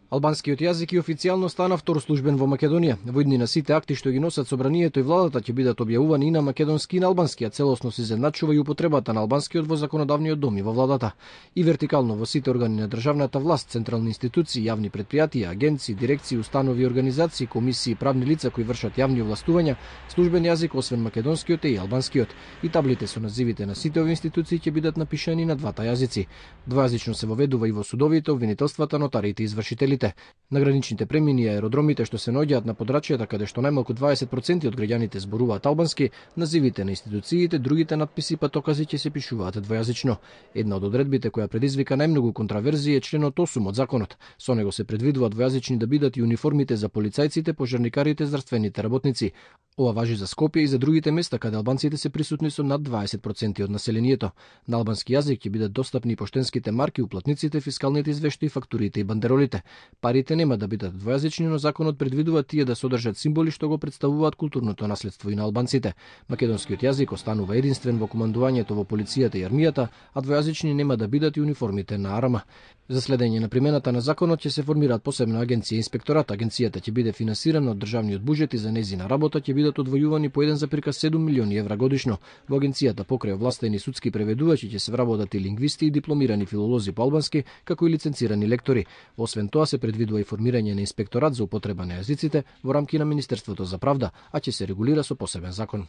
Албанскиот јазик и официјално стана втор службен во Македонија. Во иднина сите акти што ги носат собранието и владата ќе бидат објавувани и на македонски и на албански, а целосно се изедначува и употребата на албанскиот во законодавниот дом и во владата. И вертикално во сите органи на државната власт, централни институции, јавни претпријатија, агенции, дирекции, установи, организации, комисии и правни лица кои вршат јавни овластувања, службен јазик освен македонскиот е и албанскиот. И таблите со називите на сите овие институции ќе бидат напишани на двата јазици. Двојазично се воведува и во судовите, обвинителствата, нотариите и извршителите. На граничните премини и аеродромите што се наоѓаат на подрачјата каде што најмалку 20% од граѓаните зборуваат албански, називите на институциите, другите надписи и патокази ќе се пишуваат двојазично. Една од одредбите која предизвика најмногу контраверзии е членот 8 од законот. Со него се предвидува двојазични да бидат и униформите за полицајците, пожарникарите, здравствените работници. Ова важи за Скопје и за другите места каде албанците се присутни со над 20% од населението. На албански јазик ќе бидат достапни и поштенските марки, уплатниците, фискалните извештаи, фактурите и бандеролите. Парите нема да бидат двојазични, но законот предвидува тие да содржат символи што го представуваат културното наследство и на албанците. Македонскиот јазик останува единствен во командувањето во полицијата и армијата, а двојазични нема да бидат и униформите на АРМА. За следење на примената на законот ќе се формираат посебна агенција и инспекторат. Агенцијата ќе биде финансирана од државниот буџет и за нејзина работа ќе бидат одвојувани по 1,7 милиони евра годишно. Во агенцијата покрај овластени судски преведувачи ќе се вработат и лингвисти и дипломирани филолози по албански, како и лиценцирани лектори. Освен тоа се предвидува и формирање на инспекторат за употреба на јазиците во рамки на Министерството за правда, а ќе се регулира со посебен закон.